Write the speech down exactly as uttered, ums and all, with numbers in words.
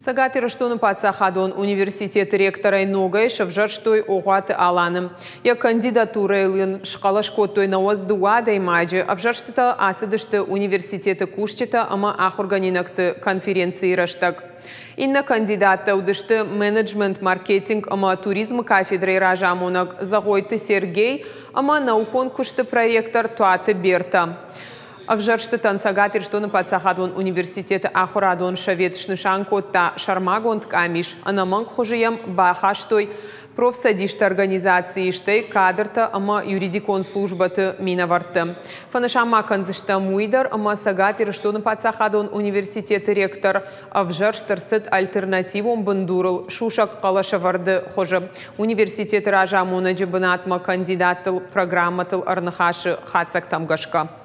Цӕгат Ирыстоны паддзахадон университеты ректорӕй ногӕй сӕвзӕрстой Огъуаты Аланы. Йӕ кандидатурӕйыл ын схъӕлӕс кодтой нӕуӕдз дыууӕ адӕймаджы. Ӕвзӕрстытӕ ацыдысты университеты кусджытӕ ӕмӕ ахуыргӕнинӕгты конференцийы рӕстӕг. Иннӕ кандидаттӕ уыдысты менеджмент, маркетинг ӕмӕ туризмы кафедрӕйы разамонӕг Зӕгъойты Сергей ӕмӕ наукон куысты проректор Туаты Берта. Ӕвзӕрстытӕн Цӕгат Ирыстоны паддзахадон университеты ахуырадон совет снысан кодта сӕрмагонд къамис, ӕнӕмӕнг хуызы йӕм бахастой профцӕдисты организацийы, стӕй кадртӕ ӕмӕ юридикон службӕты минӕвӕртты. Фӕнысан ма кӕндзыстӕм уый дӕр, ӕмӕ Цӕгат Ирыстоны паддзахадон университеты ректор ӕвзӕрст ӕрцыд альтернативон бындурыл сусӕг хъӕлӕсӕвӕрды хуызы. Университеты разамонӕджы бынатмӕ кандидаттыл программӕтыл ӕрныхасы хатдзӕгтӕм гӕсгӕ.